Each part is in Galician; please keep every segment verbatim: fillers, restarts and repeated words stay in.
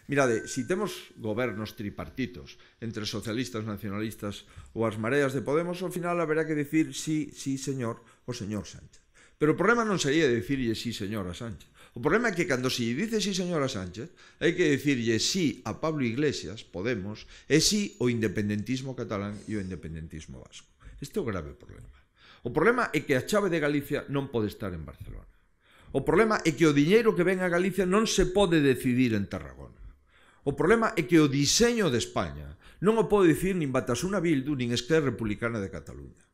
Mirade, si temos gobernos tripartitos entre socialistas, nacionalistas ou as mareas de Podemos, ao final haberá que dicir sí, sí, señor, o señor Sánchez. Pero o problema non sería dicirlle sí, señor, a Sánchez. O problema é que cando se dice sí, señor, a Sánchez, hai que dicirlle sí a Pablo Iglesias, Podemos, e sí o independentismo catalán e o independentismo vasco. Este é o grave problema. O problema é que a chave de Galicia non pode estar en Barcelona. O problema é que o diñeiro que ven a Galicia non se pode decidir en Tarragona. O problema é que o diseño de España non o pode dicir nin Batasuna Bildu nin Esquerra Republicana de Cataluña.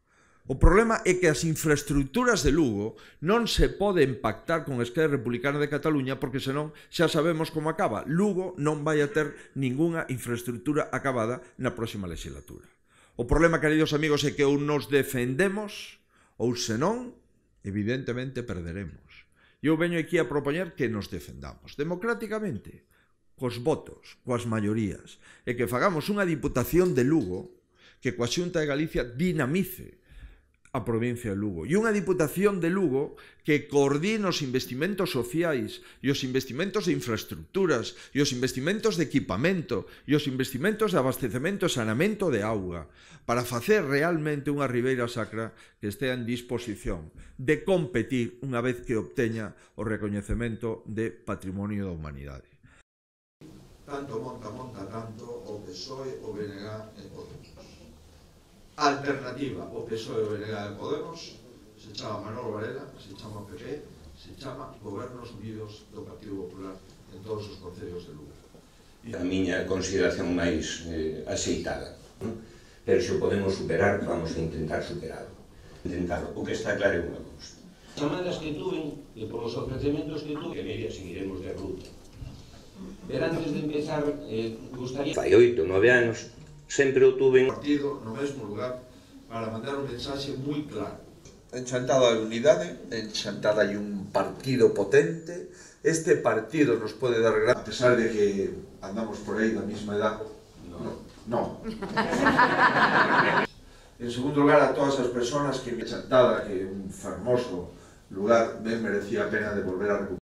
O problema é que as infraestructuras de Lugo non se poden pactar con Esquerra Republicana de Cataluña porque senón xa sabemos como acaba. Lugo non vai a ter ningunha infraestructura acabada na próxima legislatura. O problema, queridos amigos, é que ou nos defendemos ou senón, evidentemente, perderemos. Eu veño aquí a propoñer que nos defendamos democráticamente, cos votos, coas maiorías, e que fagamos unha diputación de Lugo que coa Xunta de Galicia dinamice a provincia de Lugo, e unha diputación de Lugo que coordine os investimentos sociais e os investimentos de infraestructuras e os investimentos de equipamento e os investimentos de abastecemento e saneamento de auga para facer realmente unha Ribeira Sacra que estea en disposición de competir unha vez que obteña o recoñecemento de Patrimonio da Humanidade. Tanto monta, monta tanto o P S O E, o B N G e Podemos. Alternativa, o P S O E, o B N G e Podemos, se chama Manolo Varela, se chama P P, se chama Gobernos Unidos do Partido Popular en todos os concellos de Lugo. A miña consideración máis eh, axeitada, non? Pero se o podemos superar, vamos a intentar superarlo. Intentarlo. O que está claro é unha cousa. As chamadas que tuven e por os ofrecementos que tuve, que media seguiremos de ruta. Pero antes de empezar, eh, gustaría... Fai oito, nove anos, sempre o tuve en... partido no mesmo lugar para mandar un mensaxe moi claro. En Chantada hai unidade, en Chantada hai un partido potente, este partido nos pode dar gran... A pesar de que andamos por aí da mesma edad, no. no. En segundo lugar, a todas as persoas que en Chantada, que é un fermoso lugar, ben merecía a pena de volver a recuperar.